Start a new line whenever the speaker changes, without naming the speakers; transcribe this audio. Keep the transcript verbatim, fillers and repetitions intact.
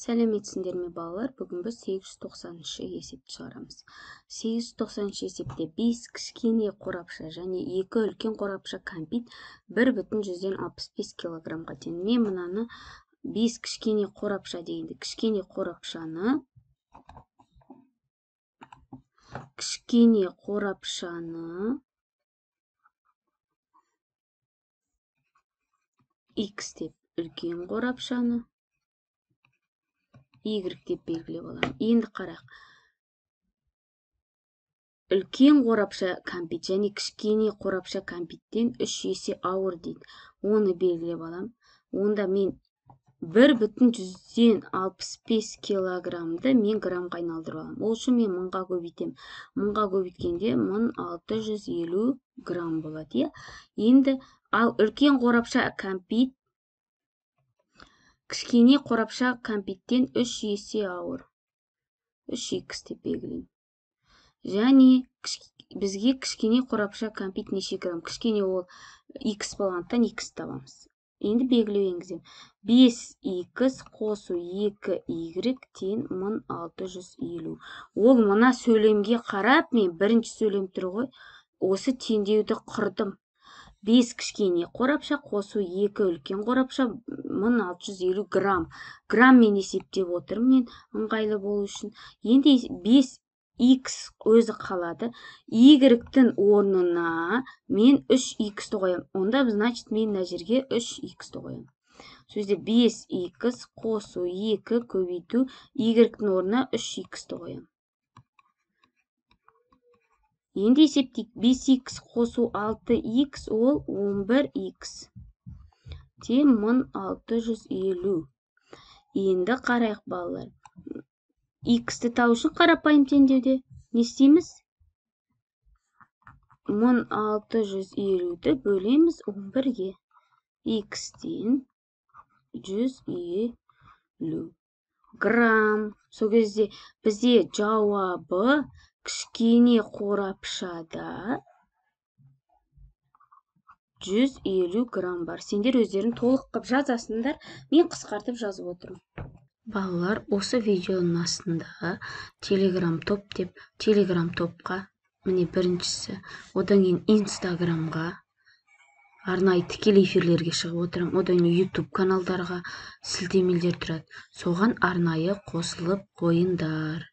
Сәлеметсіңдер ме балалар? Бүгін біз сегіз жүз тоқсаныншы есепті шығарамыз. сегіз жүз тоқсаныншы есепте бес кішкене қорапша және екі үлкен қорапша кәмпит бір бүтін жүзден алпыс бес килограммға тең. Мен мынаны бес кішкене қорапша дегенде кішкене қорапшаны кішкене қорапшаны X деп, үлкен қорапшаны Y деп белгілеп аламын. Енді қарақ. Үлкен қорапша кәмпит және кішкене қорапша кәмпиттен үш есе ауыр дейді. Оны белгілеп аламын. Онда мен бір бүтін жүзден алпыс бес килограммды мен граммға айналдырып аламын. Ол үшін мен мыңға көбейтемін. Мыңға көбейткенде мың алты жүз елу грамм болады. Енді ал үлкен қорапша кәмпит кішкене қорапша кәмпиттен үш есе ауыр. үш икс деп белгілеймін. Және бізге кішкене қорапша кәмпит неше грамм? Кішкене ол икс болғандықтан икс табамыз. Енді белгілеу енгіземін. бес икс қосу екі y тең мың алты жүз елу. Ол мына сөйлемге қарап, мен бірінші сөйлем тұр ғой, осы теңдеуді құрдым. бес кішкене қорапша қосу екі үлкен қорапша мың алты жүз елу грамм. Грамм мен есептеп отырмын мен ыңғайлы болу үшін. Енді бес икс өзі қалады. Y-тің орнына мен үш иксті қоямын. Онда, значит, мен мына жерге үш иксті қоямын. Сөзде бес икс қосу екі көбейту Y-тің орнына үш иксті қоямын. Енді есептейік. бес икс қосу алты икс ол он бір икс. Тең мың алты жүз елу. Енді қарайық балалар. Иксті табу үшін қарапайым теңдеуде не істейміз? мың алты жүз елуді бөлеміз он бірге. Икстен жүз елу грамм. Сол кезде бізде жауабы кішкене қорапшада жүз елу грамм бар. Сендер өздерін толық қып жазасыңдар. Мен қысқартып жазып отырмын. Балалар, осы видеоның астында телеграм топ деп, телеграм топқа, міне біріншісі, одан кейін инстаграмға, арнайы тікелей эфирлерге шығып отырам, одан кейін ютуб каналдарға сілтемелер тұрады. Соған арнайы қосылып қойыңдар.